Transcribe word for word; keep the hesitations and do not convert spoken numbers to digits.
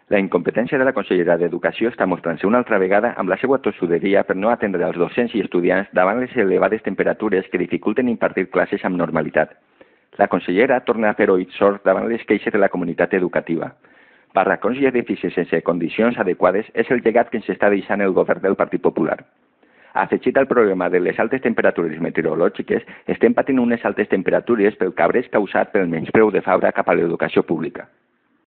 La incompetència de la consellera d'Educació està mostrant-se una altra vegada amb la seva tossuderia per no atendre els docents i estudiants davant les elevades temperatures que dificulten impartir classes amb normalitat. La consellera torna a fer oïts sords davant les queixes de la comunitat educativa. Barracons i edificis sense condicions adequades és el llegat que ens està deixant el govern del Partit Popular. Afegit al problema de les altes temperatures meteorològiques, estem patint unes altes temperatures pel cabrés causat pel menyspreu de Fabra cap a l'educació pública.